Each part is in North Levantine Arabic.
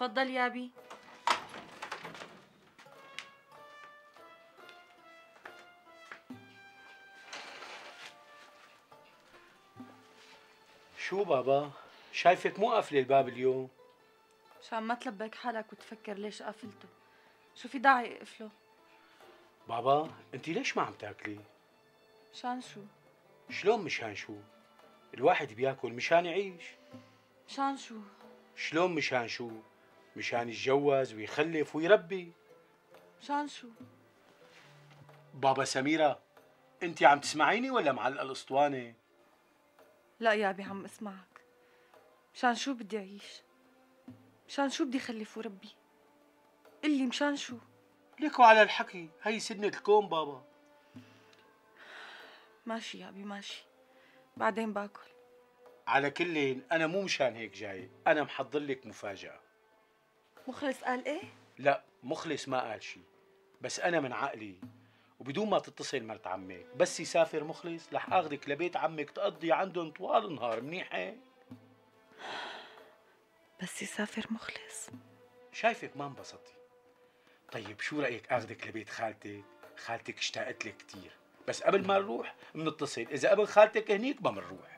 تفضل يا بي. شو بابا؟ شايفك مو قافله الباب اليوم. مشان ما تلبك حالك وتفكر ليش قفلته. شو في داعي اقفله؟ بابا انت ليش ما عم تاكلي؟ مشان شو؟ شلون مشان شو؟ الواحد بياكل مشان يعيش. مشان شو؟ شلون مشان شو؟ مشان يتجوز ويخلف ويربي. مشان شو؟ بابا سميرة، انت عم تسمعيني ولا معلقة الاسطوانة؟ لا يا ابي عم اسمعك. مشان شو بدي اعيش؟ مشان شو بدي خلف وربي؟ قلي مشان شو؟ ليكوا على الحكي، هي سنة الكون بابا. ماشي يا ابي ماشي، بعدين باكل. على كلين انا مو مشان هيك جاي، انا محضر لك مفاجأة. مخلص قال ايه؟ لا مخلص ما قال شي، بس انا من عقلي وبدون ما تتصل مرت عمك، بس يسافر مخلص رح اخذك لبيت عمك تقضي عندهم طوال النهار. منيح هيك؟ بس يسافر مخلص. شايفك ما انبسطتي. طيب شو رأيك اخذك لبيت خالتك؟ خالتك اشتاقت لك كثير، بس قبل ما نروح بنتصل، اذا قبل خالتك هنيك ما بنروح.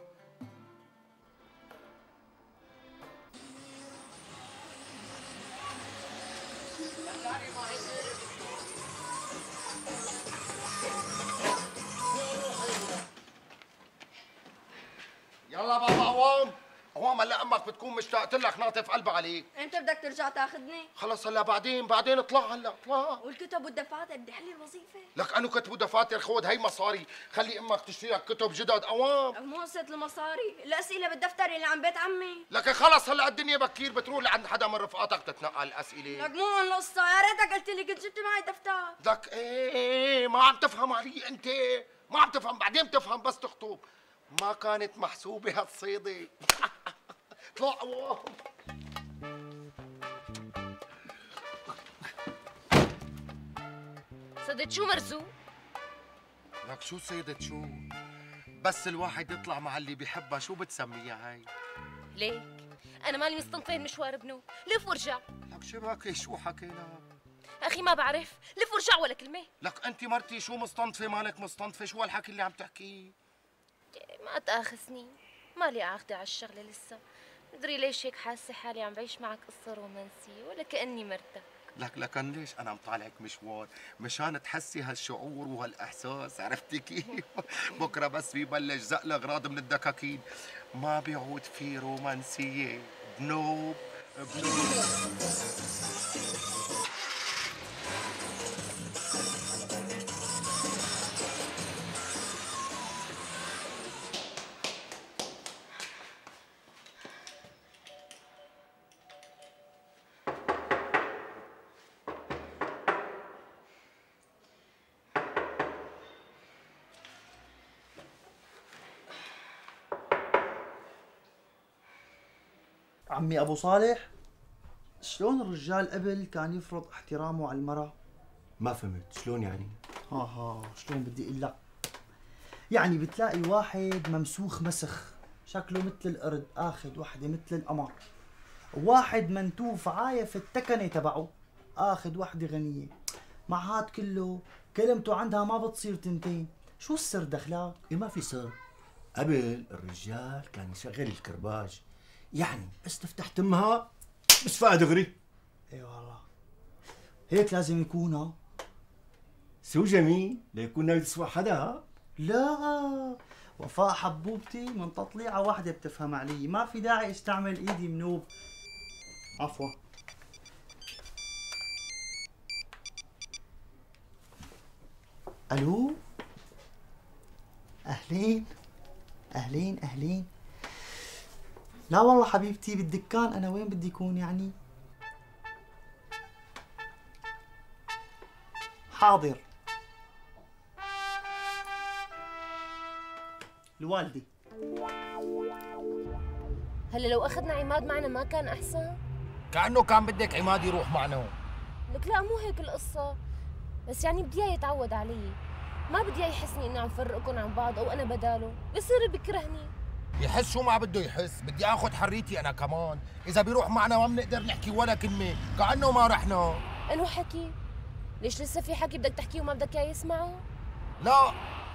يلا بابا عوام، عوام هلا امك بتكون مشتاقت لك ناطف قلبها عليك. امتى بدك ترجع تاخذني؟ خلص هلا بعدين اطلع هلا اطلع. والكتب والدفاتر بدي احل الوظيفه. لك انو كتب ودفاتر خود هي مصاري، خلي امك تشتري لك كتب جدد عوام. مو قصة المصاري، الاسئله بالدفتر اللي عن بيت عمي. لك خلص هلا الدنيا بكير بتروح لعند حدا من رفقاتك تتنقل الاسئله. لك مو هون القصه، يا ريتك قلت لي كنت جبت معي دفتر. لك ايه ما عم تفهم علي انت، ما عم تفهم، بعدين بتفهم بس تخطب. ما كانت محسوبه هالصيده. اطلع عوام. صدت شو مرزوق؟ لك شو صيدت شو؟ بس الواحد يطلع مع اللي بيحبها شو بتسميها هاي؟ ليك انا مالي مستنطين مشوار ابنه، لف وارجع. لك شباكي شو حكينا؟ اخي ما بعرف، لف وارجع ولا كلمه. لك انت مرتي شو مستنطفه مالك مستنطفه، شو هالحكي اللي عم تحكيه؟ ما تاخذني، مالي عاقده على الشغله لسه، مدري ليش هيك حاسه حالي عم بعيش معك قصه رومانسيه ولا كاني مرتك. لكن ليش انا مطالعك مشوار مشان تحسي هالشعور وهالاحساس، عرفتي كيف؟ بكره بس بيبلش زق الاغراض من الدكاكين ما بيعود في رومانسيه. بنوب بنوب. عمي أبو صالح، شلون الرجال قبل كان يفرض احترامه على المرأة؟ ما فهمت، شلون يعني؟ شلون بدي اقول لك؟ يعني بتلاقي واحد ممسوخ مسخ، شكله مثل القرد، اخذ وحده مثل القمر، وواحد منتوف عايف التكنه تبعه، اخذ وحده غنيه، مع هاد كله كلمته عندها ما بتصير تنتين، شو السر دخلك؟ ما في سر. قبل الرجال كان يشغل الكرباج، يعني بس تفتح تمها بس فيها دغري. اي والله هيك لازم يكون. ها سو جميل ليكون ناوي تسوى حدا. ها لا، وفاء حبوبتي من تطليعه واحده بتفهم علي، ما في داعي استعمل ايدي منوب. عفوا. الو، اهلين اهلين اهلين. لا والله حبيبتي بالدكان، انا وين بدي يكون يعني؟ حاضر. الوالدة. هلا لو اخذنا عماد معنا ما كان احسن؟ كأنه كان بدك عماد يروح معنا. لك لا مو هيك القصة، بس يعني بدي اياه يتعود علي، ما بدي اياه يحسني اني عم فرقكم عن بعض او انا بداله، بصير بكرهني. يحس شو ما بده يحس، بدي اخذ حريتي انا كمان، اذا بيروح معنا ما بنقدر نحكي ولا كلمه، كانه ما رحنا. انو حكي؟ ليش لسه في حكي بدك تحكيه وما بدك اياه يسمعه؟ لا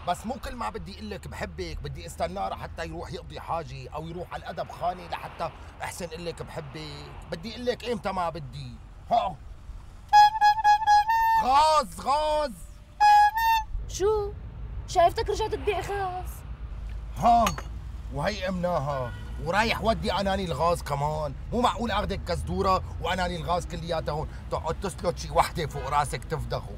بس مو كل ما بدي اقول لك بحبك بدي استناه لحتى يروح يقضي حاجه او يروح على الادب خاني لحتى احسن اقول لك بحبك، بدي اقول لك امتى ما بدي. ها غاز غاز. شو؟ شايفتك رجعت تبيع غاز؟ ها وهي امناها ورايح ودي اناني الغاز كمان، مو معقول اخذك كزدوره واناني الغاز كلياتها هون تقعد تسلط شي وحده فوق راسك تفدخوا.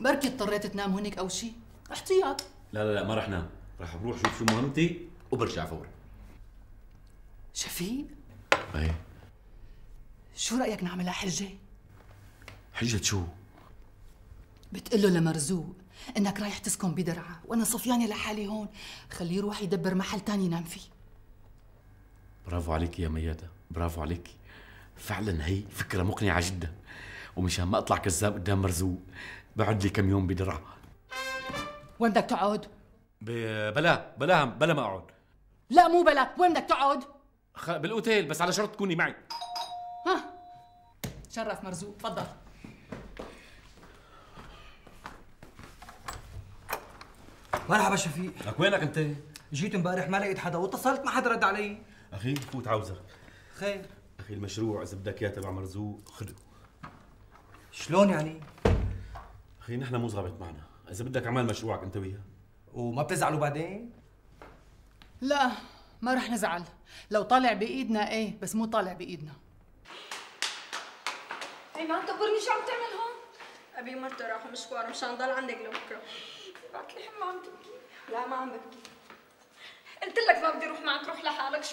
بركي اضطريت تنام هونيك او شي احتياط. لا ما رح نام، رح بروح شوف شو مهمتي وبرجع فورا. شفيق ايه شو رايك نعملها حجه؟ حجة شو؟ بتقله لمرزوق انك رايح تسكن بدرعا وانا صفيانه لحالي هون، خليه يروح يدبر محل تاني ينام فيه. برافو عليكي يا ميادة، برافو عليكي، فعلا هي فكرة مقنعة جدا، ومشان ما اطلع كذاب قدام مرزوق بقعد لي كم يوم بدرعا. وين بدك تقعد؟ بلا ما اقعد. لا مو بلا، وين بدك تقعد؟ بالاوتيل بس على شرط تكوني معي. ها شرف مرزوق، تفضل. مرحبا شفيق. لك وينك انت؟ جيت امبارح ما لقيت حدا واتصلت ما حدا رد علي. اخي فوت عاوزك. خير؟ اخي المشروع اذا بدك اياه تبع مرزوق خذه. شلون يعني؟ اخي نحن مو ظابط معنا، اذا بدك اعمل مشروعك انت وياه. وما بتزعلوا بعدين؟ لا ما رح نزعل، لو طالع بايدنا ايه بس مو طالع بايدنا. هي ما تقبرني شو عم تعمل هون؟ ابي مرته راح مشوار مشان ضل عندك لبكره. بعد لي حمى عم تبكي. لا ما عم ببكي. قلت لك ما بدي اروح معك، روح لحالك.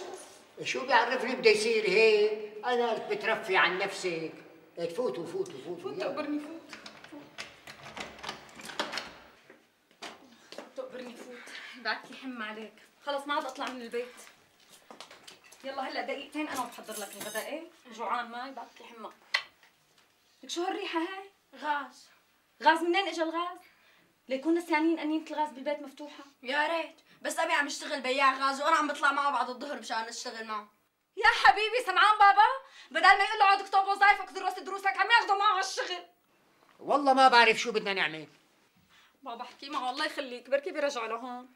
شو بيعرفني بده يصير هيك؟ انا قلت بترفي عن نفسك. فوتوا فوت تقبرني فوت. تقبرني فوت. بعد لي حمى عليك. خلص ما عاد اطلع من البيت. يلا هلا دقيقتين انا بحضر لك الغداء. ايه جوعان معي بعد لي حمى. لك شو هالريحه هاي؟ غاز. غاز منين اجى الغاز؟ ليكون نسيانين انينة الغاز بالبيت مفتوحه. يا ريت بس ابي عم يشتغل بياع غاز وانا عم بطلع معه بعد الظهر مشان اشتغل معه. يا حبيبي سمعان بابا؟ بدل ما يقول له اقعد اكتب وظايفك ودرس دروسك عم ياخذوا معه على الشغل. والله ما بعرف شو بدنا نعمل. بابا احكي معه الله يخليك بركي بيرجعوا لهون.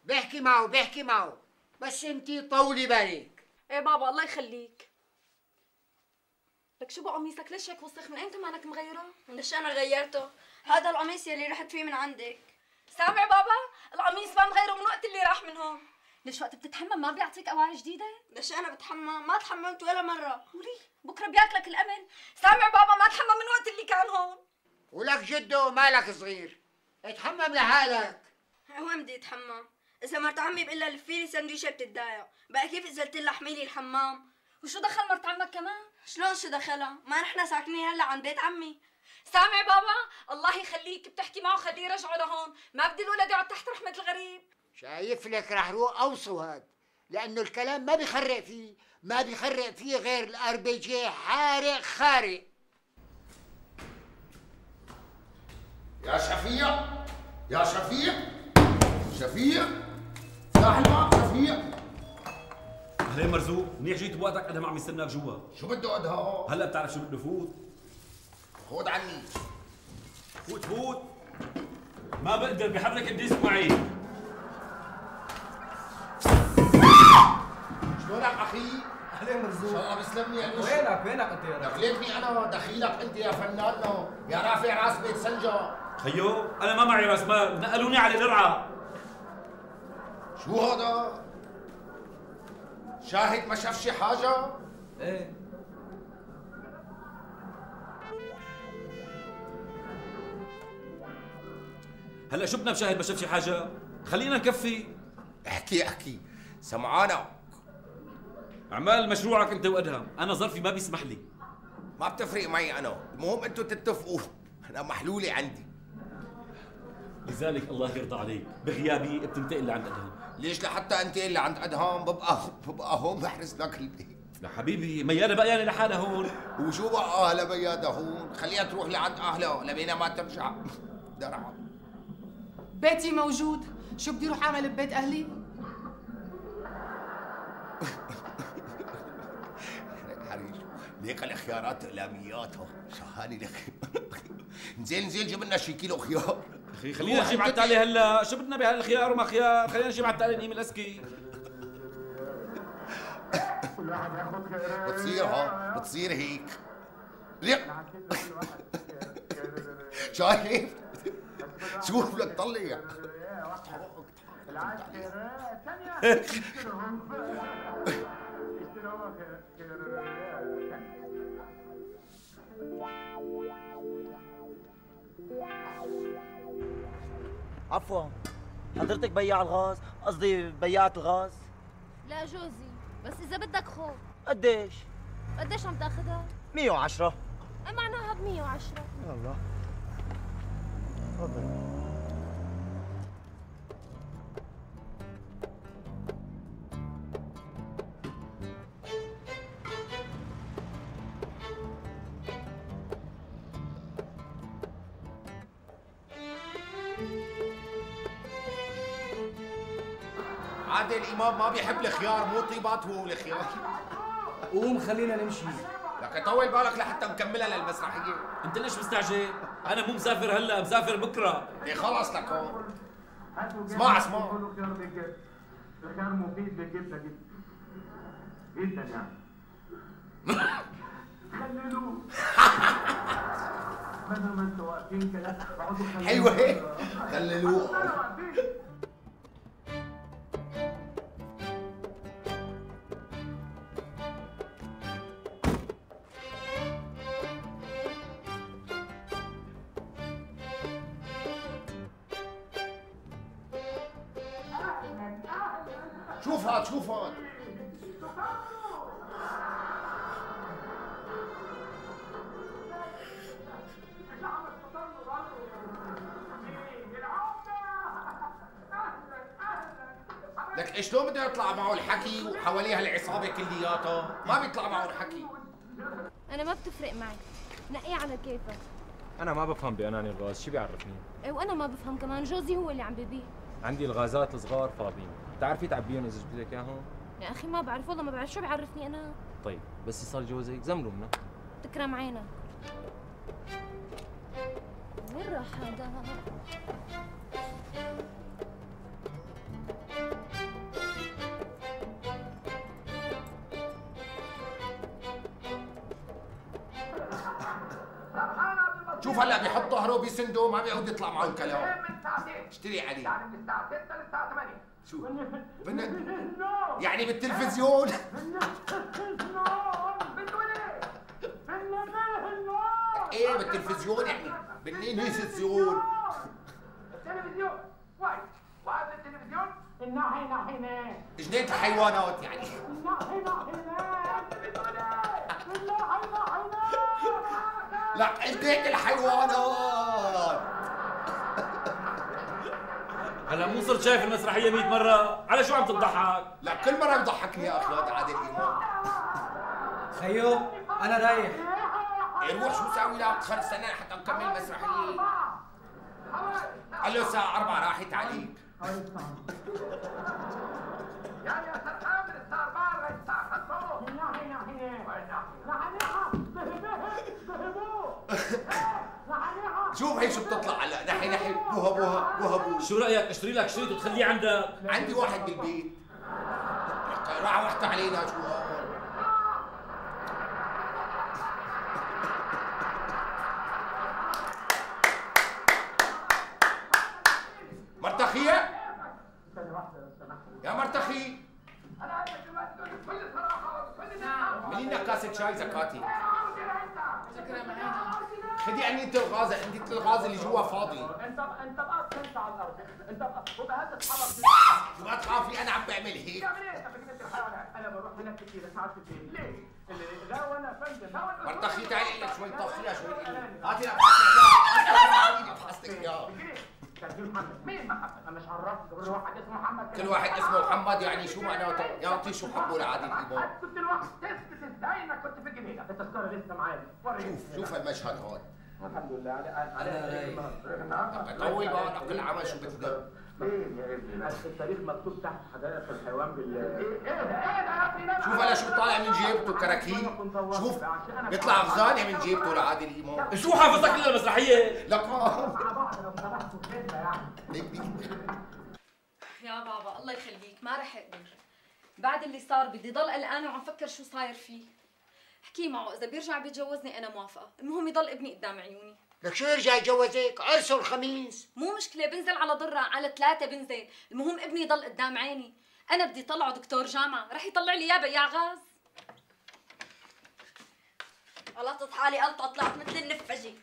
بحكي معه بس انتي طولي بالك. ايه بابا الله يخليك. لك شو بقميصك ليش هيك وسخ؟ من ايمتى مانك مغيره؟ ليش انا غيرته؟ هذا القميص يلي رحت فيه من عندك. سامع بابا؟ القميص ما مغيره من وقت اللي راح من هون. ليش وقت بتتحمم ما بيعطيك اواعي جديده؟ ليش انا بتحمم؟ ما تحممت ولا مره. ولي بكره بياكلك الامل. سامع بابا ما تحمم من وقت اللي كان هون. ولك جده مالك صغير، اتحمم لحالك. وين بدي اتحمم؟ اذا مرت عمي بقول لها لفي لي سندويشه بتتضايق، بقى كيف اذا قلت لها احمي لي الحمام؟ وشو دخل مرت عمك كمان؟ شلون شو دخلها؟ ما نحن ساكنين هلا عند بيت عمي. سامع بابا؟ الله يخليك بتحكي معه خليه يرجعوا لهون، ما بدي الولد يقعد تحت رحمة الغريب. شايف لك رح روح اوصوا هاد، لانه الكلام ما بيخرق فيه غير الار بي جي حارق خارق. يا شفيع افتح الباب شفيع. اهلين مرزوق، منيح جيت بوقتك، انا ما عم يستناك جوا. شو بده قدها؟ هلا بتعرف شو بده فوت؟ خود عني. فوت ما بقدر بحرك الديسك معي. شلونك اخي؟ اهلين مرزوق. ان شاء الله بسلمني يا وينك انت يا رجل؟ دخلتني انا دخيلك انت يا فنان يا رافع راس بيت سنجا. خيو انا ما معي راس مال، نقلوني على درعا. شو هذا؟ شاهد ما شاف شي حاجة؟ ايه هلا شو بدنا بشاهد ما شاف شي حاجة؟ خلينا نكفي. احكي سمعانك. اعمال مشروعك انت وادهم، انا ظرفي ما بيسمح لي. ما بتفرق معي انا، المهم انتوا تتفقوا، انا محلولة عندي. لذلك الله يرضى عليك، بغيابي بتنتقل لعند ادهم. ليش لحتى انتقل لعند ادهم؟ ببقى هون بحرس لك البيت. يا حبيبي ميادة بقيانة لحالها هون. وشو بقى اهلها ميادة هون؟ خليها تروح لعند اهلها لبينا ما ترجع درعا. بيتي موجود، شو بدي روح اعمل ببيت اهلي؟ حريش ليك الخيارات اقلامياتها شهاني لك. نزيل جيب لنا شي كيلو خيار. اخي خلينا نجيب على التالي هلا، شو بدنا بهالخيار وما خيار؟ خلينا نجيب على التالي نقيم الاسكي. بتصير هيك. ليك شايف؟ شوف لك طلع. عفوا، حضرتك بياع الغاز؟ قصدي بياعة الغاز؟ لا جوزي، بس إذا بدك خذ. قديش؟ قديش عم تاخذها؟ 110. معناها ب 110. يلا تفضل. عادل الامام ما بيحب الخيار، مو طيبات هو الخيار. قوم خلينا نمشي. لك طول بالك لحتى نكملها للمسرحيه. انت ليش مستعجل؟ انا مو مسافر هلا، مسافر بكره. ايه خلص لك هون. اسمع الخيار مفيد للجبنه جدا يعني. خللوه. بدل ما انتوا واقفين كده اقعدوا خللوه. حلوه هيك خللوه. شوف هاد شوف هاد. لك شلون بده يطلع معه الحكي وحواليها العصابه كلياتها؟ ما بيطلع معه الحكي. أنا ما بتفرق معي، نقيه على كيفك. انا ما بفهم باناني الغاز، شو بيعرفني؟ إيه وأنا ما بفهم كمان، جوزي هو اللي عم ببيع. عندي الغازات الصغار فاضيين، بتعرفي تعبيهم اذا جبت لك اياهم؟ يا أخي ما بعرف والله، ما بعرف شو بيعرفني أنا. طيب بس يصير جوزك زمروا منه. تكرم عينك. وين راح هذا؟ شوف هلا بيحط ظهره بيسنده ما بيعود يطلع معه الكلام. اشتري عليه. يعني من الساعه 6 للساعه 8. شو؟ يعني بالتلفزيون؟ ايه بالتلفزيون يعني بالتلفزيون. التلفزيون وايد وهذا التلفزيون الناحية ناحية جنينة الحيوانات يعني. الناحية لا جنينة الحيوانات. هلا مو صرت شايف المسرحيه 100 مره، على شو عم تضحك؟ لا كل مره بضحكني يا اخي هذا عادل امام. خيو انا رايح. إيه روح شو ساوي لك؟ خلص استنى حتى نكمل المسرحيه. قال له الساعه 4 راحت عليك. يعني يا سرحان من الساعة 4 لغاية الساعة 5 ناحية شوف هي شو بتطلع هلا ناحية بوها. شو رايك اشتري لك شريط وتخليه عندك؟ عندي واحد بالبيت. راح وقت علينا شو هون. مرتخية؟ يا مرتخي اعملي لنا كاسة شاي زكاتي. خدي عني انت الغاز، عندي الغاز اللي جوا فاضي. انت بقى تنسى على الارض، انت وبهذا تتحرك. ما تخافي انا عم بعمل هيك. بتعمل ايه انت بجنينة الحيوانات؟ انا بروح هناك كثير ساعات كثير، ليه؟ لا وانا فندم. مرتخي تعالي لك شوي طفيها شوي. هاتي لك حاستك اياه. مين محمد؟ انا مش عرفت كل واحد اسمه محمد. كل واحد اسمه محمد يعني شو معناته؟ يعطي شو حبه لعادل امام. كنت الوقت تثبت ازاي انك كنت في الجنينه، التذكره لسه معايا. شوف المشهد هون. الحمد لله على طول بقى نقل العمل شو بدك؟ فين يا ابني؟ التاريخ مكتوب تحت حدائق الحيوان شوف هلا شو طالع من جيبته كراكيب. شوف بيطلع غزالة من جيبته لعادل إمام. شو حافظك الا المسرحيه؟ لك يا بابا الله يخليك ما رح اقدر. بعد اللي صار بدي ضل قلقانه وعم فكر شو صاير فيه. احكي معه اذا بيرجع بيتجوزني انا موافقه، المهم يضل ابني قدام عيوني. لك شو يرجع يتجوزك؟ عرسه الخميس. مو مشكله بنزل على ضره على 3 بنزل، المهم ابني يضل قدام عيني. انا بدي طلعه دكتور جامعه، رح يطلع لي اياه بياع غاز. غلطت حالي قلطه طلعت مثل النفجي.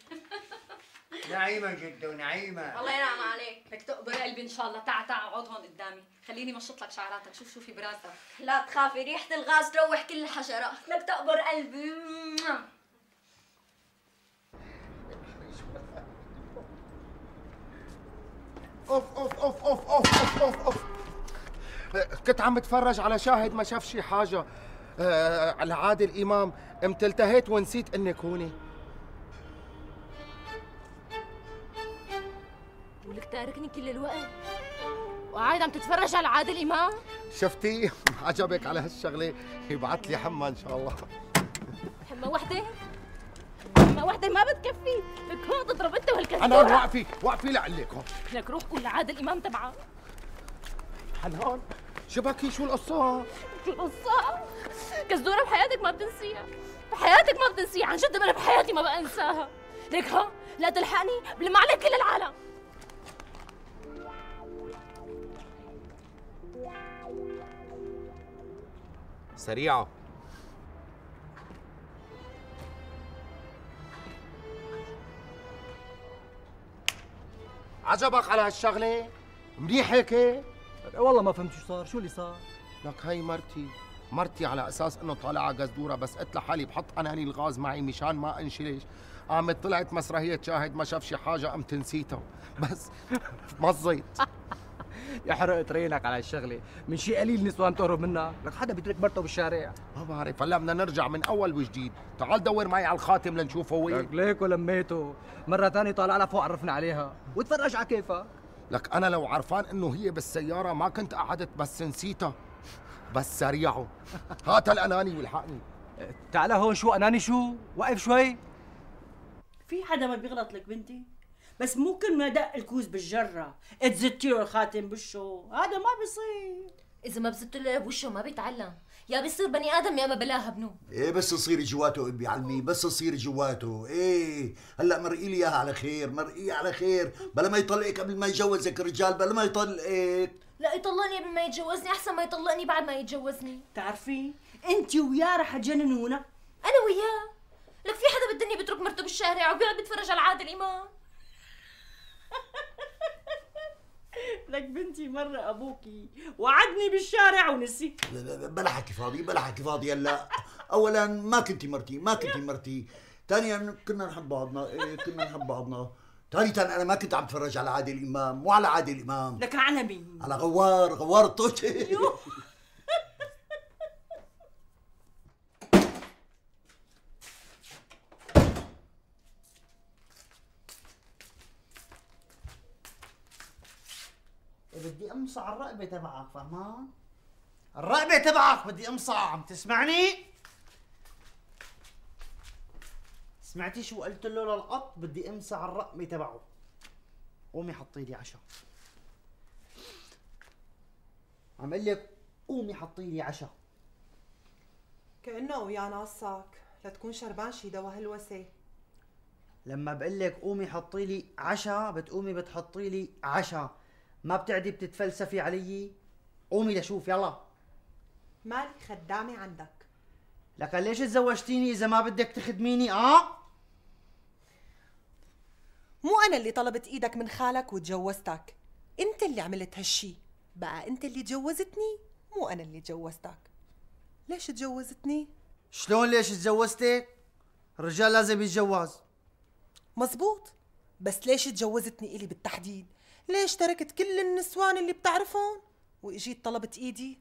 نعيمة جدا ونعيمة. الله ينعم عليك، لك تقبر قلبي ان شاء الله. تعا اقعد هون قدامي، خليني مشط لك شعراتك. شوف شو في براسك. لا تخافي ريحة الغاز تروح كل الحشرات. لك تقبر قلبي. اوف اوف اوف اوف اوف اوف اوف. كنت عم بتفرج على شاهد ما شاف شي حاجة على عادل إمام، قمت التهيت ونسيت انك هوني. ولك تاركني كل الوقت وقاعد عم تتفرج على عادل إمام؟ شفتي؟ عجبك على هالشغلة؟ يبعث لي حمى إن شاء الله. حمى وحدة؟ حمى وحدة ما بتكفي، لك هون تضرب أنت وهالكذاب. حنان وقفي لعلك هون. لك روح قول لعادل إمام تبعك. حنان شو بكي؟ شو القصة؟ شو القصة؟ كزدورة بحياتك ما بتنسيها، بحياتك ما بتنسيها، عن جد أنا بحياتي ما بنساها. ليك ها لا تلحقني بلم عليك كل العالم. سريعة. عجبك على هالشغلة؟ منيح هيك؟ والله ما فهمت شو صار، شو اللي صار؟ لك هي مرتي على اساس انه طالعه قزدوره، بس قلت لحالي بحط اناني الغاز معي مشان ما انشلش. قامت طلعت مسرحيه شاهد ما شاف شي حاجه قمت نسيتها، بس مزيت. يحرق طريقك على هالشغله، من شي قليل نسوان تهرب منها، لك حدا بيترك مرته بالشارع؟ ما بعرف، هلا بدنا نرجع من اول وجديد. تعال دور معي على الخاتم لنشوفه وين. لك ليكو لميته، مرة ثانية طالع لها فوق عرفنا عليها، وتفرج على كيفك. لك انا لو عرفان انه هي بالسياره ما كنت قعدت، بس نسيتها. بس سريعه، هات الاناني والحقني. تعال هون. شو اناني؟ شو وقف شوي. في حدا ما بيغلط لك بنتي؟ بس مو كل ما دق الكوز بالجره اتزتي له الخاتم بوشه، هذا ما بيصير. إذا ما بزت له بوشه ما بيتعلم، يا بيصير بني آدم يا ما بلاها ابنه. ايه بس تصيري جواته ابي علمي، بس تصيري جواته. ايه هلا مرقي لي اياها على خير، مرقيه على خير، بلا ما يطلقك قبل ما يتجوزك الرجال، بلا ما يطلقك. لا يطلقني قبل ما يتجوزني، احسن ما يطلقني بعد ما يتجوزني. بتعرفي انت وياه رح تجننونا. انا وياه؟ لك في حدا بالدنيا بيترك مرته بالشارع وبيقعد بيتفرج على عادل امام؟ لك بنتي مرة ابوكي وعدني بالشارع ونسي. بلا حكي فاضي، بلا حكي فاضي. هلا اولا ما كنتي مرتي، ثانيا كنا نحب بعضنا. ايه كنا نحب بعضنا. ثالثا انا ما كنت عم بتفرج على عادل امام، مو على عادل امام. لك على مين؟ على غوار الطوشي. بدي امصع الرقبة تبعك، فهمان؟ الرقبة تبعك بدي امصع، عم تسمعني؟ سمعتي شو قلت له للقط؟ بدي امصع الرقبة تبعه. قومي حطي لي عشاء. عم اقول لك قومي حطي لي عشاء. كأنه ويانا قصك، لا تكون شربان شي دوا هلوسة. لما بقول لك قومي حطي لي عشاء بتقومي بتحطي لي عشاء، ما بتعدي بتتفلسفي علي. قومي لشوف يلا. مالي خدامة عندك. لك ليش تزوجتيني اذا ما بدك تخدميني؟ مو انا اللي طلبت ايدك من خالك وتجوزتك، انت اللي عملت هالشي. بقى انت اللي تجوزتني، مو انا اللي تجوزتك. ليش تجوزتني؟ شلون ليش تجوزتك؟ الرجال لازم يتجوز. مزبوط، بس ليش تجوزتني إلي بالتحديد؟ ليش تركت كل النسوان اللي بتعرفهم واجيت طلبت ايدي؟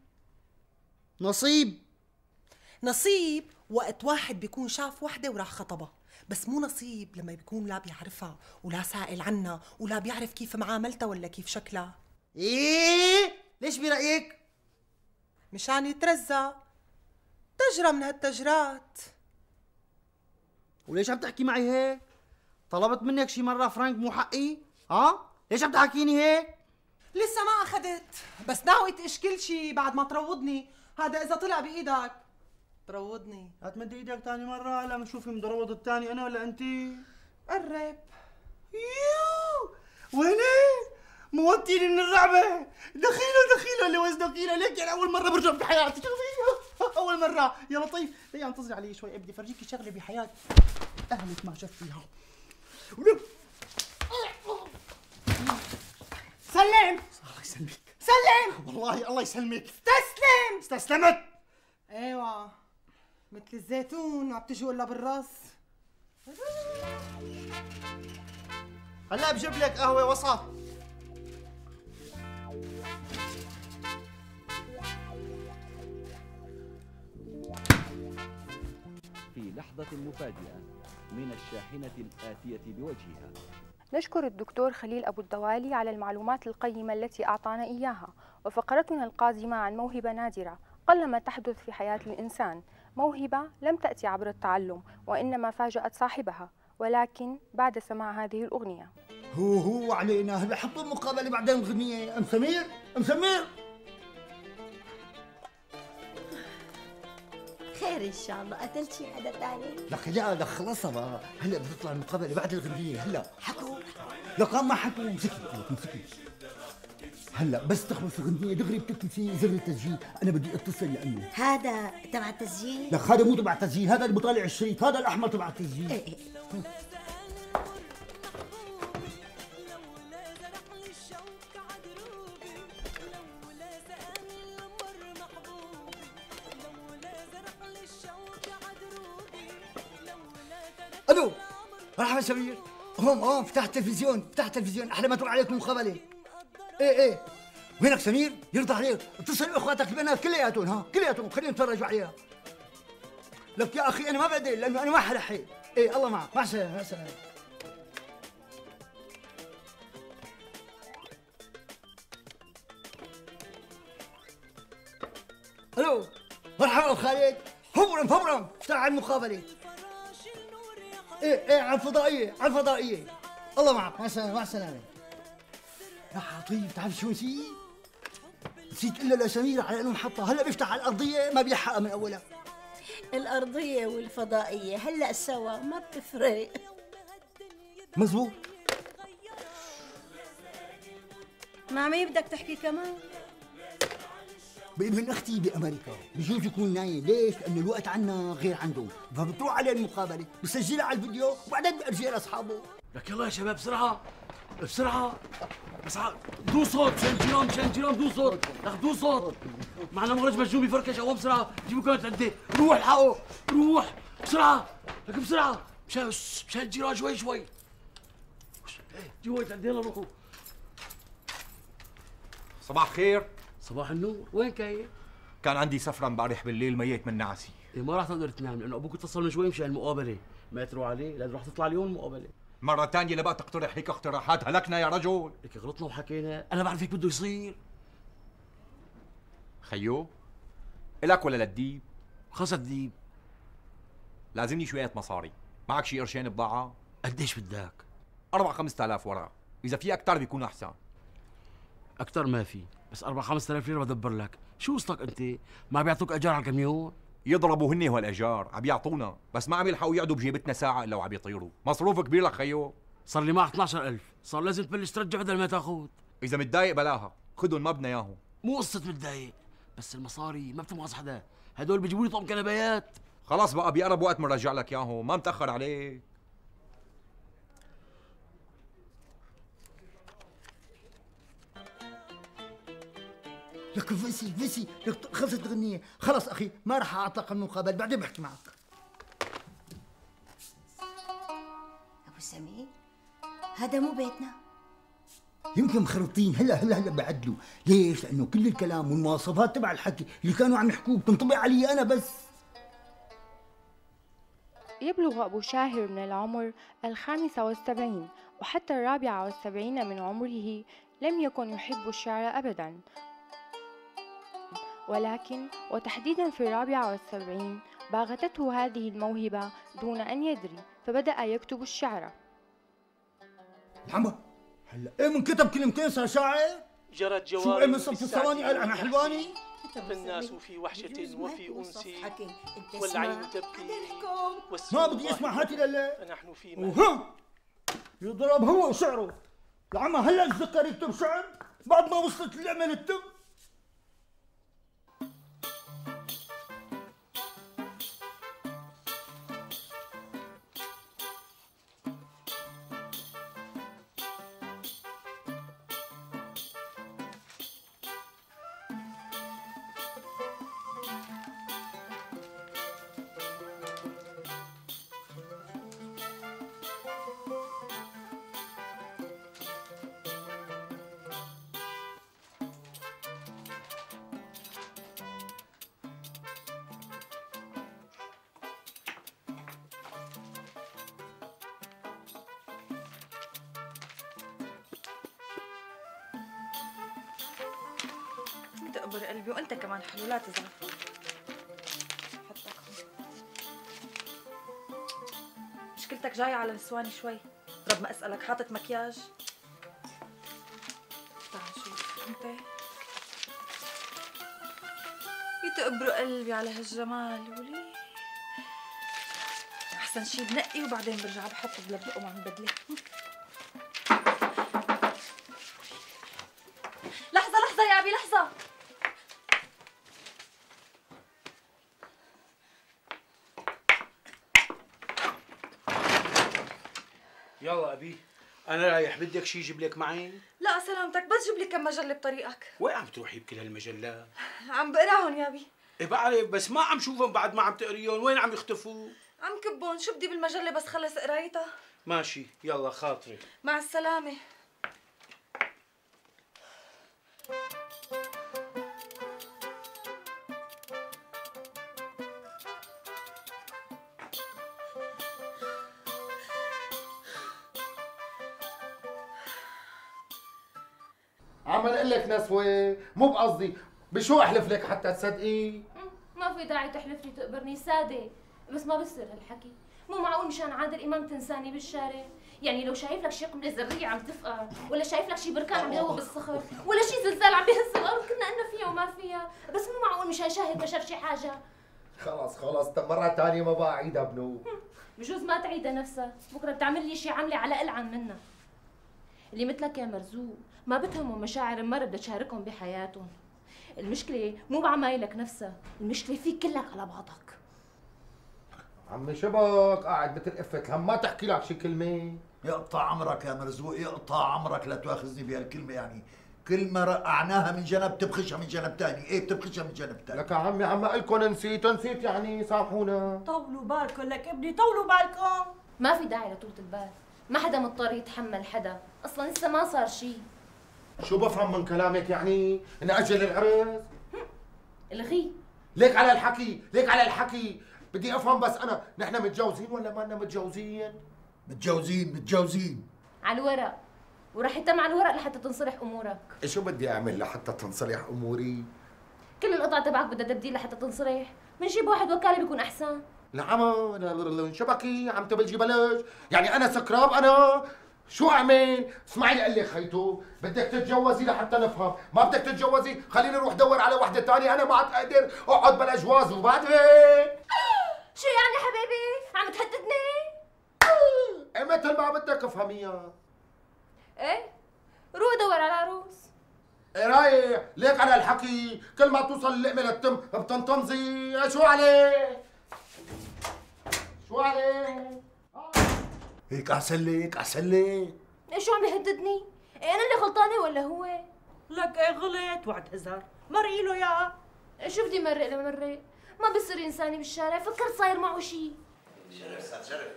نصيب وقت واحد بيكون شاف وحده وراح خطبها، بس مو نصيب لما بيكون لا بيعرفها ولا سائل عنها ولا بيعرف كيف معاملتها ولا كيف شكلها. ايه ليش برأيك؟ مشان يترزق تجرة من هالتجرات. وليش عم تحكي معي هيك؟ طلبت منك شي مرة فرانك مو حقي؟ ها؟ ليش عم تحكيني هيك؟ لسه ما اخذت، بس ناوي تقش كل شي بعد ما تروضني. هذا اذا طلع بايدك تروضني. هتمد ايدك تاني مرة هلا بنشوف مدروض التاني انا ولا انتي؟ قرب. يو ويني؟ موتيني من الرعبة. دخيله اللي وزنه كيلو. ليك يعني اول مرة برجع بحياتي. شوفي اول مرة يا لطيف. ليه انتظري علي شوي بدي افرجيكي شغلة بحياتي اهلك ما شفتيها. سلم. الله يسلمك. سلم والله الله يسلمك. استسلم. استسلمت. ايوه مثل الزيتون ما بتجي الا بالراس. هلا بجيب لك قهوة وسط. في لحظة مفاجئة من الشاحنة الآتية بوجهها. نشكر الدكتور خليل أبو الدوالي على المعلومات القيمة التي أعطانا إياها. وفقرتنا القادمة عن موهبة نادرة قلما تحدث في حياة الإنسان، موهبة لم تأتي عبر التعلم وإنما فاجأت صاحبها، ولكن بعد سماع هذه الأغنية. هو علينا هلا حطوا مقابلة بعدين الغنية. أم سمير أم سمير خير ان شاء الله. قتلت شي حدا ثاني؟ لك خلصها بقى. هلا بتطلع المقابلة بعد الغنية. هلا حكوا لك ما حكوا. امسكي هلا بس تخلص الغنية دغري بتكتبي زر التسجيل. انا بدي اتصل لانه هذا تبع التسجيل. لك هذا مو تبع التسجيل، هذا اللي بطالع الشريط، هذا الاحمر تبع التسجيل. ايه الو مرحبا سمير. هون فتحت التلفزيون احلى ما تروح عليكم مقابله. ايه وينك سمير؟ يرضى عليك اتصل باخواتك البنات كلياتهم خليهم يتفرجوا عليها. لك يا اخي انا ما بقدر لانه انا ما حلحق. ايه الله معك. مع السلامه. الو مرحبا خالد. فورا افتح على المقابله. ايه على الفضائيه. الله معك. مع السلامه. يا عطيف تعرف شو نسيت الا لسمير على انه محطه. هلا بيفتح على الارضيه ما بيلحقها من اولها. الارضيه والفضائيه هلا سوا ما بتفرق. مزبوط. مع مين بدك تحكي كمان؟ بابن اختي بامريكا. بجوز يكون نايم. ليش؟ لانه الوقت عنا غير عنده، فبتروح عليه المقابله بسجلها على الفيديو وبعدين بأرجيها لاصحابه. لك يلا يا شباب بسرعه دو صوت مشان الجيران دو صوت. لك دو صوت. معنا مخرج مجنون بفركش. اول بسرعه جيبوا كانت عندي. روح الحقوا روح بسرعه. لك بسرعه مشان الجيران شوي. جيبوا عندي يلا روحوا. صباح خير. صباح النور. وين كاين؟ كان عندي سفرة امبارح بالليل ميت من نعسي. ما راح تقدر تنام لانه ابوك اتصل من شوي مشان المقابله. ما تروح عليه لازم راح تطلع اليوم المقابله. مرة ثانية لبقى تقترح هيك اقتراحات. هلكنا يا رجل. لك غلطنا وحكينا. انا بعرف هيك بده يصير. خيو الك ولا للديب؟ خلص الديب. لازمني شوية مصاري. معك شي قرشين بضاعة؟ قديش بدك؟ 4-5 آلاف ورقة. إذا في أكثر بيكون أحسن. أكثر ما في، بس 4-5 آلاف ليرة بدبر لك. شو قصتك أنت؟ ما بيعطوك إيجار على الكاميون؟ يضربوا هني هالإيجار، عم يعطونا، بس ما عم يلحقوا يقعدوا بجيبتنا ساعة إلا وعم يطيروا. مصروف كبير لك خيو. صار لي معك 12,000، صار لازم تبلش ترجع بدل ما تاخذ. إذا متضايق بلاها، خدهم ما بدنا إياهم. مو قصة متضايق، بس المصاري ما بتنقص حدا، هدول بيجيبوا لي طقم كنبايات. خلاص بقى بيقرب وقت بنرجع لك إياهم، ما متأخر عليك. لك فيسي لك خلصت الغنية. خلص أخي ما راح أعطلق المقابل، بعدين بحكي معك. أبو سمير هذا مو بيتنا. يمكن مخرطين. هلا بعدلوا. ليش؟ لأنه كل الكلام والمواصفات تبع الحكي اللي كانوا عم يحكوه بتنطبق علي أنا بس. يبلغ أبو شاهر من العمر 75، وحتى 74 من عمره لم يكن يحب الشعر أبدا، ولكن وتحديدا في 74 باغتته هذه الموهبة دون أن يدري، فبدأ يكتب الشعر. محمد هلا ايه من كتب كلمتين صار شاعر؟ جرت شو جواري ايه من صف الثواني قال انا حلواني؟ فالناس في وحشة وفي أنس والعين تبكي ما بدي اسمع هاتي لله. نحن في وها يضرب هو شعره يا عم. هلا تذكر يكتب شعر بعد ما وصلت اللعبة للتم. تقبر قلبي وانت كمان حلو، لا تزعل. حطك هون. مشكلتك جاية على نسواني شوي. رب ما اسألك حاطط مكياج؟ تعال شوف انت. يتقبروا قلبي على هالجمال ولي. احسن شي بنقي وبعدين برجع بحط بلبقه مع البدله. لحظة يا أبي لحظة. يلا أبي أنا رايح، بدك شي جيب لك معي؟ لا سلامتك، بس جيب لي كم مجلة بطريقك. وين عم تروحي بكل هالمجلات؟ عم بقراهم يا أبي. إيه بعرف بس ما عم شوفهم بعد ما عم تقريهم، وين عم يختفوا؟ عم كبون، شو بدي بالمجلة بس خلص قرايتها؟ ماشي يلا خاطري. مع السلامة. عم اقول لك نسوة مو بقصدي، بشو احلف لك حتى تصدقي؟ ما في داعي تحلف لي تقبرني سادة، بس ما بصير هالحكي. مو معقول مشان عادل امام تنساني بالشارع. يعني لو شايف لك شي قنبله ذريه عم تفقع، ولا شايف لك شي بركان عم يذوب بالصخر، ولا شي زلزال عم بيهز الارض كنا قلنا فيها وما فيها، بس مو معقول مشان شاهد بشر شي حاجه. خلص مرة ثانية ما بقى اعيدها بنو. بجوز ما تعيدها نفسها، بكره بتعمل لي شي عمله على ألعن منها. اللي مثلك يا مرزوق ما بتهمهم مشاعر المرة بدها تشاركهم بحياتهم. المشكلة مو بعمايلك نفسها، المشكلة فيك كلك على بعضك. عمي شبك قاعد مثل قفة هم ما تحكي لك شي كلمة. يقطع عمرك يا مرزوق، يقطع عمرك، لا تواخذني بهالكلمة. يعني كل ما رقعناها من جنب تبخشها من جنب ثاني، ايه بتبخشها من جنب ثاني. لك يا عمي عم اقول لكم نسيت يعني سامحونا. طولوا بالكم لك ابني، طولوا بالكم. ما في داعي لطولة البال، ما حدا مضطر يتحمل حدا، اصلا لسه ما صار شيء. شو بفهم من كلامك يعني؟ نأجل العرس؟ الغي. ليك على الحكي، بدي افهم بس انا، نحن متجوزين ولا ما لنا متجوزين؟ متجوزين على الورق، ورح يتم على الورق لحتى تنصلح امورك. شو بدي اعمل لحتى تنصلح اموري؟ كل القطع تبعك بدها تبديل لحتى تنصلح، بنجيب واحد وكاله بيكون احسن. العمى شبكي عم تبلجي بلج، يعني انا سكراب انا؟ شو اعمل؟ اسمعي لي قال لي خيتو، بدك تتجوزي لحتى نفهم، ما بدك تتجوزي خليني اروح دور على وحده ثانيه، انا ما عاد اقدر اقعد بلا جواز وبعد هيك. شو يعني حبيبي؟ عم تهددني؟ ايه مثل ما بدك افهميها. ايه؟ روح دور على عروس. ايه رايح؟ ليك على الحكي، كل ما توصل اللقمه للتم بتنطمزي. شو عليه؟ هيك احسن لك. ايه شو عم يهددني؟ ايه انا اللي غلطانه ولا هو؟ لك ايه غلط وعد هزار، مرقي له يا. شو بدي مرق لمرق؟ ما بصير ينساني بالشارع، فكرت صاير معه شيء. شرف استاذ شرف.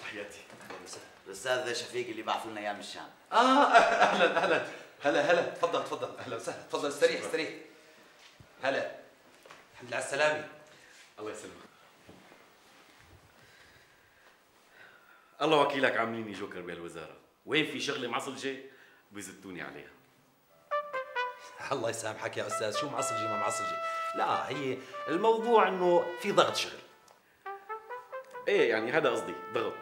تحياتي. اهلا وسهلا. الاستاذ شفيق اللي بعثوا لنا اياه من الشام. اهلا هلا تفضل اهلا وسهلا، تفضل استريح. هلا الحمد لله على السلامة. الله يسلمك. الله وكيلك عامليني جوكر بهالوزاره، وين في شغله معصلجه بيزتوني عليها. الله يسامحك يا استاذ، شو معصلجه ما معصلجه؟ لا هي الموضوع انه في ضغط شغل. ايه يعني هذا قصدي، ضغط.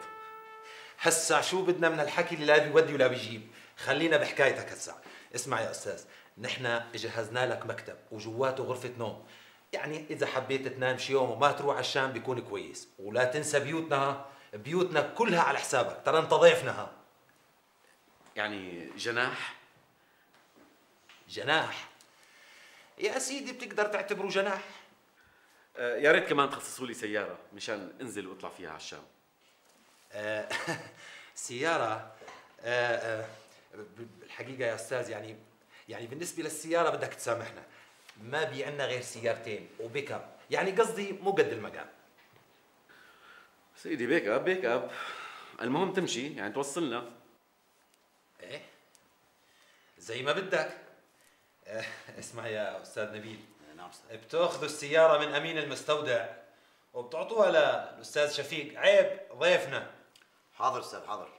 هسا شو بدنا من الحكي اللي لا بيودي ولا بيجيب؟ خلينا بحكايتك هسا. اسمع يا استاذ، نحن جهزنا لك مكتب وجواته غرفه نوم، يعني اذا حبيت تنام شي يوم وما تروح على الشام بيكون كويس، ولا تنسى بيوتنا كلها على حسابك، ترى انت ضيفنا ها. يعني جناح يا سيدي بتقدر تعتبره جناح. يا ريت كمان تخصصوا لي سياره مشان انزل واطلع فيها على الشام. سياره بالحقيقه يا استاذ، يعني بالنسبه للسياره بدك تسامحنا، ما بي عندنا غير سيارتين وبيك اب، يعني قصدي مو قد المقام. سيدي بيك اب المهم تمشي، يعني توصلنا. ايه زي ما بدك. اسمع يا استاذ نبيل، نعم استاذ. بتاخذوا السياره من امين المستودع وبتعطوها للاستاذ شفيق، عيب ضيفنا. حاضر استاذ حاضر.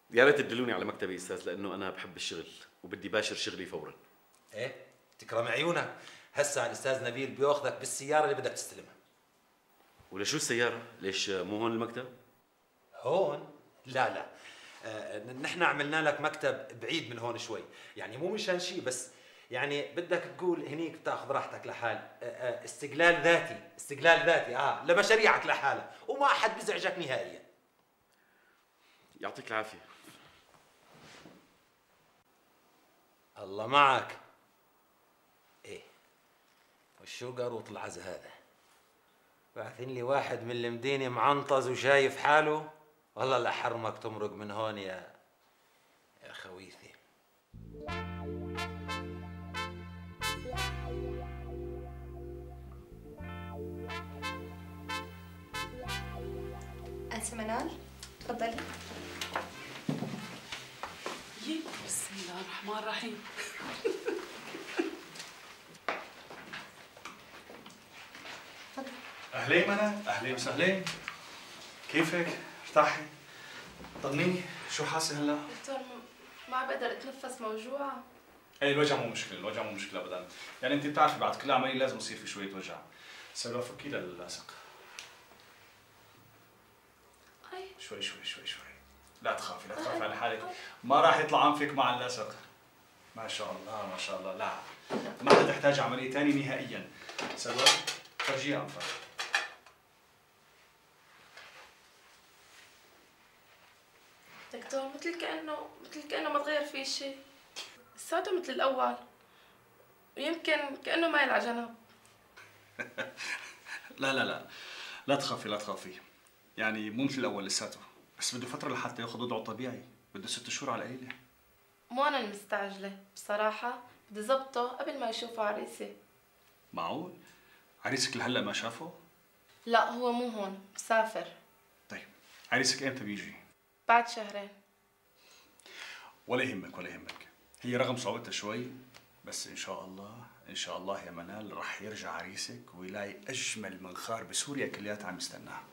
يا ريت تدلوني على مكتبي استاذ، لانه انا بحب الشغل وبدي باشر شغلي فورا. ايه تكرم عيونك. هسا الاستاذ نبيل بياخذك بالسياره اللي بدك تستلمها. ولا شو السياره؟ ليش مو هون المكتب؟ هون؟ لا نحن عملنا لك مكتب بعيد من هون شوي، يعني مو مشان شيء، بس يعني بدك تقول هنيك بتاخذ راحتك لحال، استقلال ذاتي لمشاريعك لحالها، وما احد بيزعجك نهائيا. يعطيك العافيه. الله معك. ايه وشو قاروط العز هذا؟ بعثين لي واحد من المدينه معنطز وشايف حاله، والله لحرمك تمرق من هون يا خويثي. أنسة منال تفضلي. بسم الله الرحمن الرحيم. أهلين منال، أهلين وسهلين. كيفك؟ ارتاحي؟ طمنيني، شو حاسة هلا؟ دكتور ما بقدر اتنفس، موجوعة. ايه الوجع مو مشكلة ابدا، يعني انت بتعرفي بعد كل عملية لازم يصير في شوية وجع. سلوى فكي للاصق. شوي لا تخافي على حالك، ما راح يطلع انفك مع اللاصق. ما شاء الله لا ما حتحتاج عملية ثانية نهائيا. سلوى فرجيها انفك. دكتور مثل كأنه ما تغير فيه شيء، لساته مثل الأول، ويمكن كأنه مايل على جنب. لا تخافي، يعني مو مثل الأول لساته، بس بده فترة لحتى ياخذ وضعه الطبيعي، بده 6 شهور على القليلة. مو أنا المستعجلة، بصراحة بدي ظبطه قبل ما يشوفه عريسي. معقول؟ عريسك لهلا ما شافه؟ لا هو مو هون، مسافر. طيب عريسك امتى بيجي؟ بعد 2 شهر. ولا يهمك، هي رغم صعوبتها شوي، بس ان شاء الله يا منال رح يرجع عريسك ويلاقي اجمل منخار بسوريا كلياتها عم يستناها.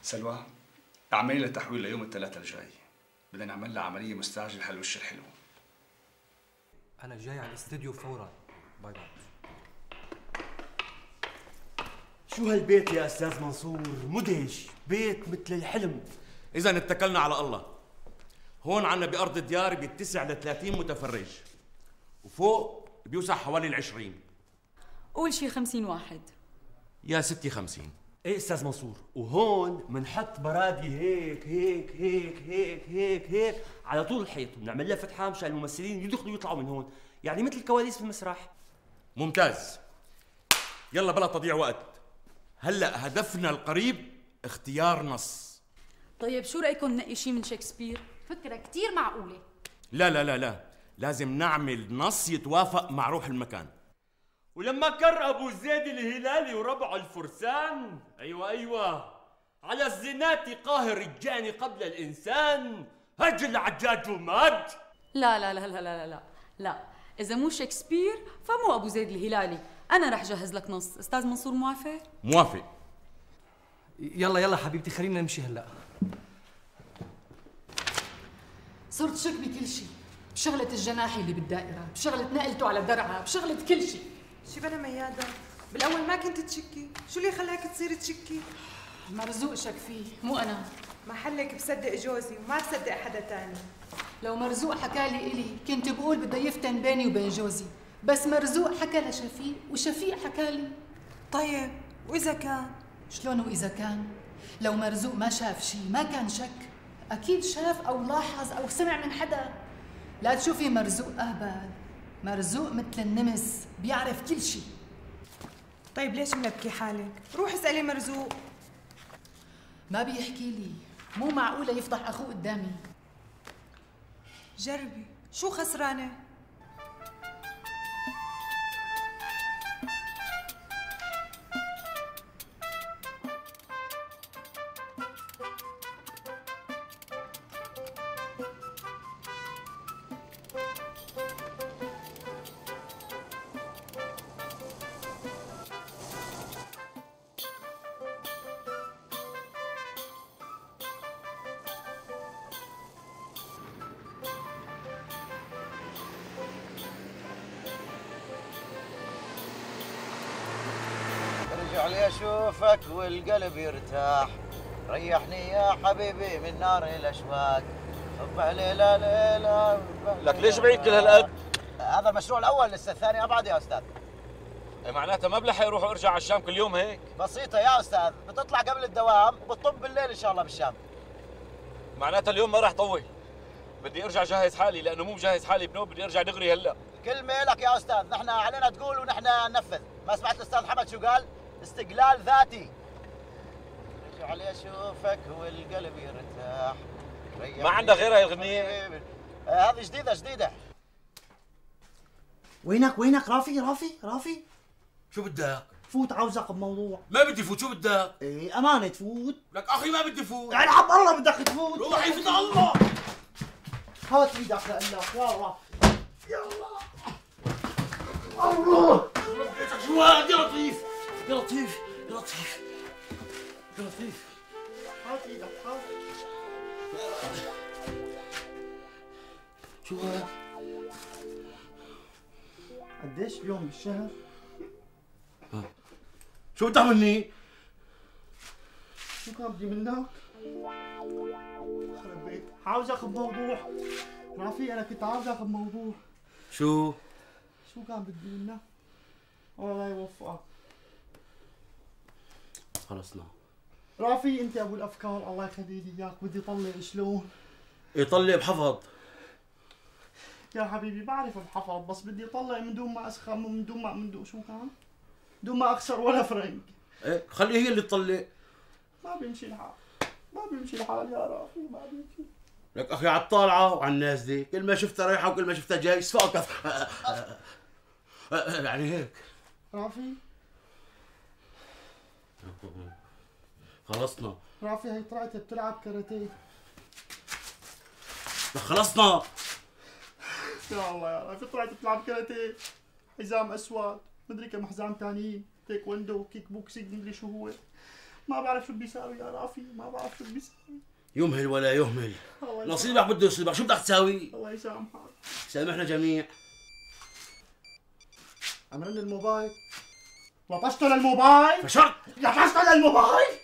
سلوى اعملي لها تحويل ليوم الثلاثاء الجاي، بدنا نعمل لها عمليه مستعجله هالوش الحلو. انا جاي على الاستديو فورا. باي. شو هالبيت يا استاذ منصور؟ مدهش، بيت مثل الحلم. اذا اتكلنا على الله. هون عنا بارض الديار بيتسع ل 30 متفرج، وفوق بيوسع حوالي 20. قول شي 50 واحد. يا ستي 50. ايه استاذ منصور، وهون بنحط برادي هيك هيك هيك هيك هيك هيك على طول الحيط، وبنعمل لها فتحه مشان الممثلين يدخلوا ويطلعوا من هون، يعني مثل الكواليس في المسرح. ممتاز. يلا بلا تضييع وقت، هلا هدفنا القريب اختيار نص. طيب شو رايكم ننقي شي من شكسبير؟ فكره كثير معقوله. لا، لازم نعمل نص يتوافق مع روح المكان. ولما كر ابو زيد الهلالي وربعه الفرسان، ايوه على الزنات قاهر الجاني قبل الانسان، هج العجاج ومات. لا لا لا لا لا لا لا، اذا مو شكسبير فمو ابو زيد الهلالي. انا رح جهز لك نص. استاذ منصور موافق؟ موافق. يلا يلا حبيبتي خلينا نمشي هلا. صرت شك بكل شيء، بشغلة الجناحي اللي بالدائرة، بشغلة نقلته على درعا، بشغلة كل شيء. شي بلا ميادة، بالأول ما كنت تشكي، شو اللي خلاك تصير تشكي؟ مرزوق شك فيه، مو أنا. محلك بصدق جوزي وما بصدق حدا تاني. لو مرزوق حكالي إلي كنت بقول بده يفتن بيني وبين جوزي، بس مرزوق حكى لشفيق وشفيق حكالي. طيب وإذا كان؟ شلون وإذا كان؟ لو مرزوق ما شاف شيء ما كان شك، أكيد شاف أو لاحظ أو سمع من حدا. لا تشوفي مرزوق أهبل، مرزوق مثل النمس بيعرف كل شيء. طيب ليش ملبكي حالك؟ روح اسألي مرزوق. ما بيحكي لي، مو معقولة يفضح أخوه قدامي. جربي، شو خسرانة؟ ارجع لي اشوفك والقلب يرتاح، ريحني يا حبيبي من نار الاشواق، صبح ليلة ليلة. لك ليش بعيد كل هالقد؟ هذا المشروع الاول، لسه الثاني ابعد يا استاذ. معناتها ما بلحق اروح وارجع على الشام كل يوم هيك؟ بسيطة يا استاذ، بتطلع قبل الدوام بتطب بالليل ان شاء الله بالشام. معناتها اليوم ما راح طول، بدي ارجع جهز حالي لانه مو مجهز حالي بنوب، بدي ارجع دغري هلا. كلمة لك يا استاذ، نحن علينا تقول ونحن ننفذ، ما سمعت الاستاذ محمد شو قال؟ استقلال ذاتي. ارجع لي اشوفك والقلب يرتاح. ما عندك غيرها هي الغنية؟ هذه جديدة. وينك رافي؟ شو بدك؟ فوت عاوزك بموضوع. ما بدي فوت، شو بدك؟ ايه امانة تفوت. لك اخي ما بدي فوت. يعني حق الله بدك تفوت. روح يفوت الله. هات ايدك لقلك يا رب. يلا الله. شو هاد يا لطيف؟ هات ايدك هات. شو هاد؟ قديش اليوم بالشهر؟ شو بدك مني؟ شو كان بدي منك؟ خرب بيت، عاوزك بموضوع. رافي انا كنت عاوزك بموضوع. شو كان بدي منك؟ الله لا يوفقك. خلصنا. رافي انت ابو الافكار، الله يخلي لي اياك، بدي طلع شلون؟ يطلع بحفظ. يا حبيبي بعرف بحفظ، بس بدي طلع من دون ما اسخن، من دون شو كان؟ دون ما اخسر ولا فرنك. ايه خلي هي اللي تطلع. ما بيمشي الحال يا رافي، ما بيمشي. لك اخي على الطالعه وعلى النازله، كل ما شفتها رايحه وكل ما شفتها جاي صفاقة. يعني هيك. رافي خلصنا. رافي هي طلعت بتلعب كاراتيه. خلصنا. يا الله يا رافي طلعت بتلعب كاراتيه، حزام اسود، مدري كم حزام ثانيين، تايكوندو، كيك بوكسينج، مدري شو هو. ما بعرف شو بيساوي يا رافي، ما بعرف شو بيساوي. يمهل ولا يهمل، نصيبك بده يصيبك، شو بدك تساوي؟ الله يسامحك. سامحنا جميع. عمرن الموبايل. لطشته للموبايل. فشرت. لطشته للموبايل.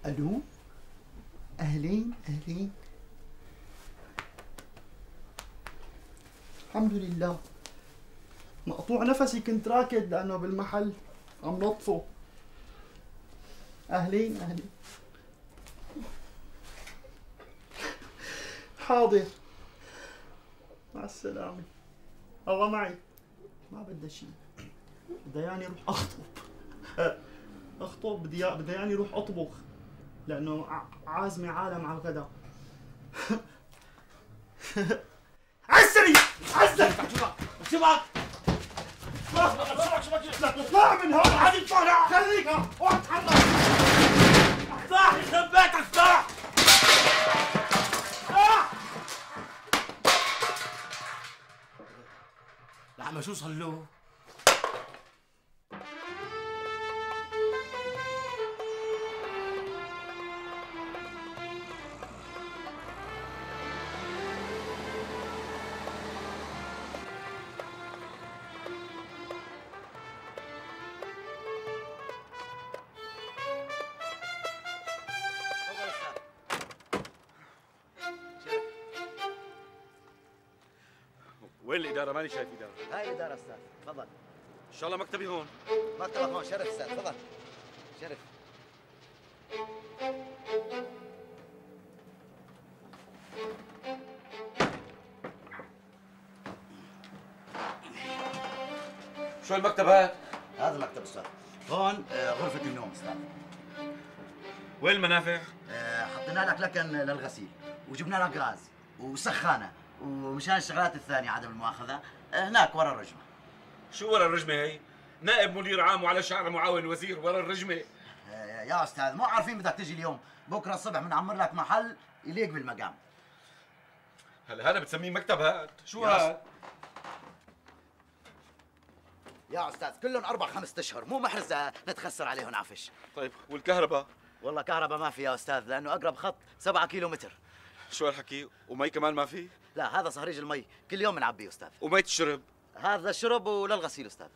الو اهلين. الحمد لله، مقطوع نفسي كنت راكد لانه بالمحل عم نطفو. اهلين. حاضر، مع السلامة. الله معي، ما بدي شيء. بدي يعني اروح اخطب، بدي يعني اروح اطبخ لانه عازمة عالم على الغداء. عسري شبك اطلع من هون، عادي اطلع، خليك اقعد تحرك. افتح يخرب بيتك، افتح. لعما شو صار له؟ وين الإدارة؟ ماني شايف إدارة. هاي الإدارة أستاذ، تفضل. إن شاء الله مكتبي هون. مكتبك هون، شرف أستاذ، تفضل. شرف. شو المكتب هذا؟ هذا مكتب أستاذ. هون غرفة النوم أستاذ. وين المنافع؟ حطينا لك لكن للغسيل، وجبنا لك غاز وسخانة، ومشان الشغلات الثانية عدم المؤاخذة هناك ورا الرجمة. شو ورا الرجمة هي؟ نائب مدير عام وعلى شعر معاون وزير ورا الرجمة. يا أستاذ مو عارفين بدك تجي اليوم، بكرة الصبح بنعمر لك محل يليق بالمقام. هلا هذا بتسميه مكتب هاد؟ شو هاد؟ يا أستاذ كلهم 4-5 أشهر، مو محرز نتخسر عليهم عفش. طيب والكهرباء؟ والله كهرباء ما في يا أستاذ، لأنه أقرب خط 7 كيلومتر. شو هالحكي؟ ومي كمان ما في؟ لا هذا صهريج المي، كل يوم بنعبيه أستاذ. ومية الشرب؟ هذا الشرب وللغسيل أستاذ.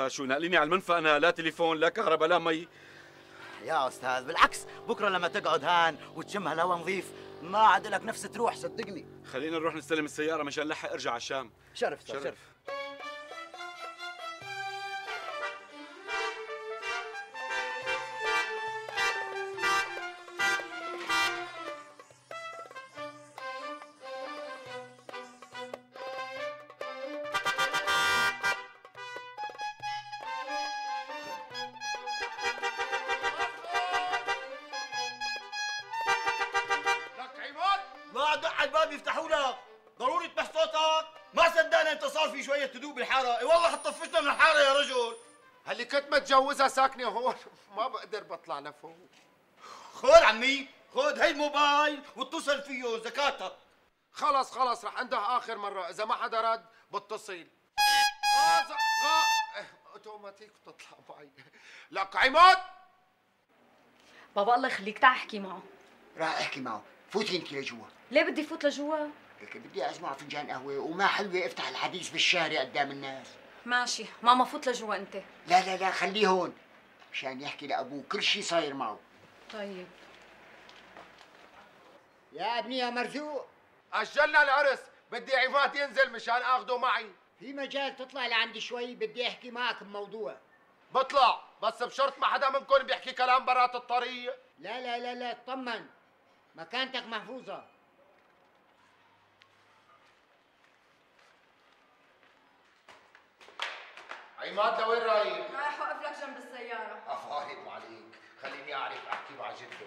شو ناقليني على المنفى أنا، لا تليفون لا كهرباء لا مي. يا أستاذ بالعكس، بكرة لما تقعد هان وتشم هالهواء نظيف ما عاد لك نفس تروح صدقني. خلينا نروح نستلم السيارة مشان نلحق ارجع على الشام. شرف أستاذ شرف. ما دق على الباب يفتحوا لك، ضروري تبح صوتك، ما صدقنا انت صار في شوية هدوء بالحارة، اي والله حطفشنا من الحارة يا رجل. هاللي كنت متجوزها ساكنة هون، ما بقدر بطلع لفوق. خذ عمي، خذ هي الموبايل واتصل فيه زكاتك. خلص رح انده آخر مرة، إذا ما حدا رد بتصل. اوتوماتيك بتطلع معي. لك عماد بابا الله يخليك تعال احكي معه. راح احكي معه، فوتي انت لجوا. ليه بدي فوت لجوا؟ لك بدي اسمع فنجان قهوه وما حلوه افتح الحديث بالشارع قدام الناس. ماشي ماما فوت لجوا انت. لا خليه هون مشان يحكي لابوه كل شيء صاير معه. طيب يا ابني يا مرزوق، اجلنا العرس، بدي عماد ينزل مشان اخده معي. في مجال تطلع لعندي شوي، بدي احكي معك بموضوع. بطلع بس بشرط ما حدا منكم بيحكي كلام برات الطريق. لا اطمن، مكانتك محفوظة. عماد لوين رايح؟ رايح وقف لك جنب السيارة. افارق عليك، خليني اعرف احكي مع جده.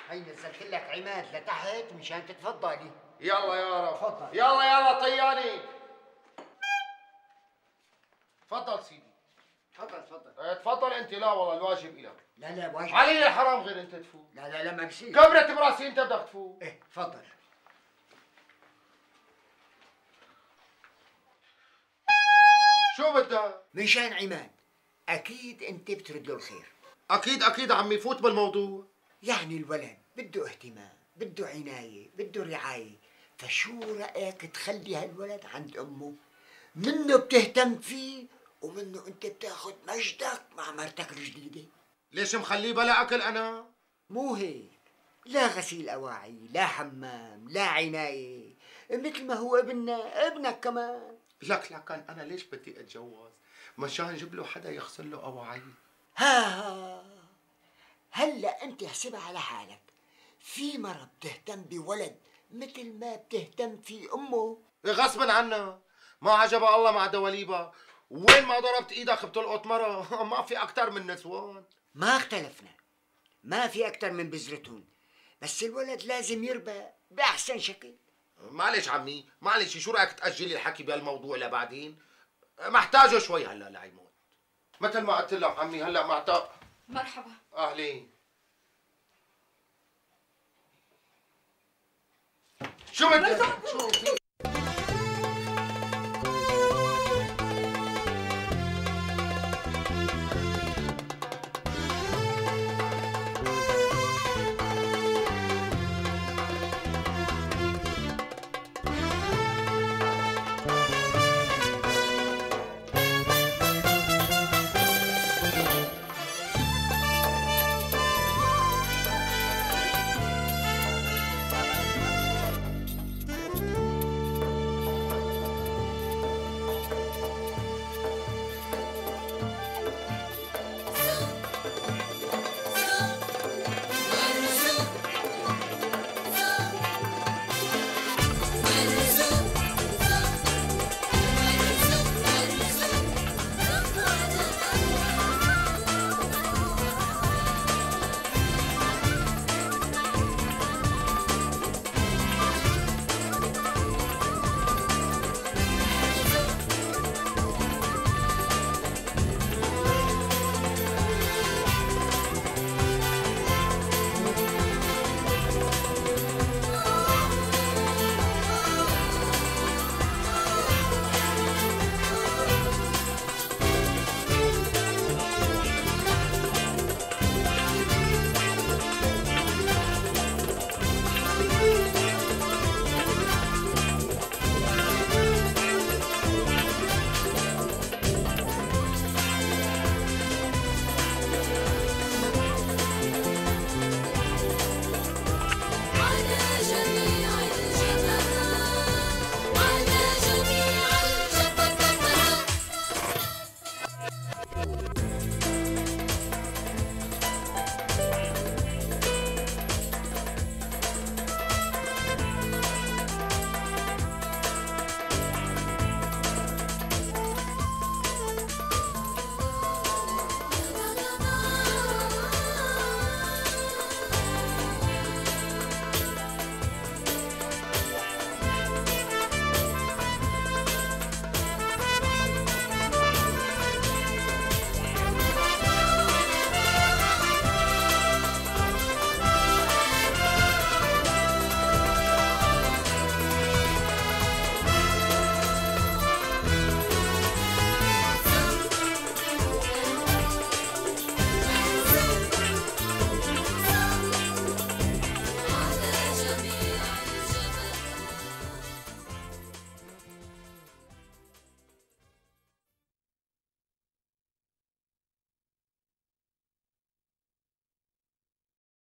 هي نزلت لك عماد لتحت مشان تتفضلي. يلا يا رب، تفضل. يلا طياني. تفضل سيدي. تفضل. تفضل انت. لا والله الواجب الك. لا واجب علي الحرام غير انت تفوت. لا ما بصير. كبرت براسي انت بدك تفوت. ايه تفضل. شو بدك؟ مشان عماد اكيد انت بترد له الخير. اكيد عمي، فوت بالموضوع. يعني الولد بده اهتمام، بده عناية، بده رعاية، فشو رأيك تخلي هالولد عند أمه؟ منه بتهتم فيه ومنه أنت بتاخد مجدك مع مرتك الجديدة. ليش مخليه بلا أكل أنا؟ مو هيك، لا غسيل أواعي، لا حمام، لا عناية، مثل ما هو ابنك كمان. لك أنا ليش بدي أتجوز؟ مشان جيب له حدا يغسل له أواعي. هلا أنت احسبها على حالك، في مرة بتهتم بولد مثل ما بتهتم في أمه. غصبا عنا، ما عجبها الله مع دواليبها، وين ما ضربت ايدك بتلقط مرة. ما في أكتر من نسوان. ما اختلفنا، ما في أكتر من بذرتهم، بس الولد لازم يربى بأحسن شكل. معلش عمي، معلش، شو رأيك تأجلي الحكي بهالموضوع لبعدين؟ محتاجه شوي هلا لعيمون. مثل ما قلت لك عمي، هلا معتق. مرحبا. أهلين. شو بدك؟ شو في؟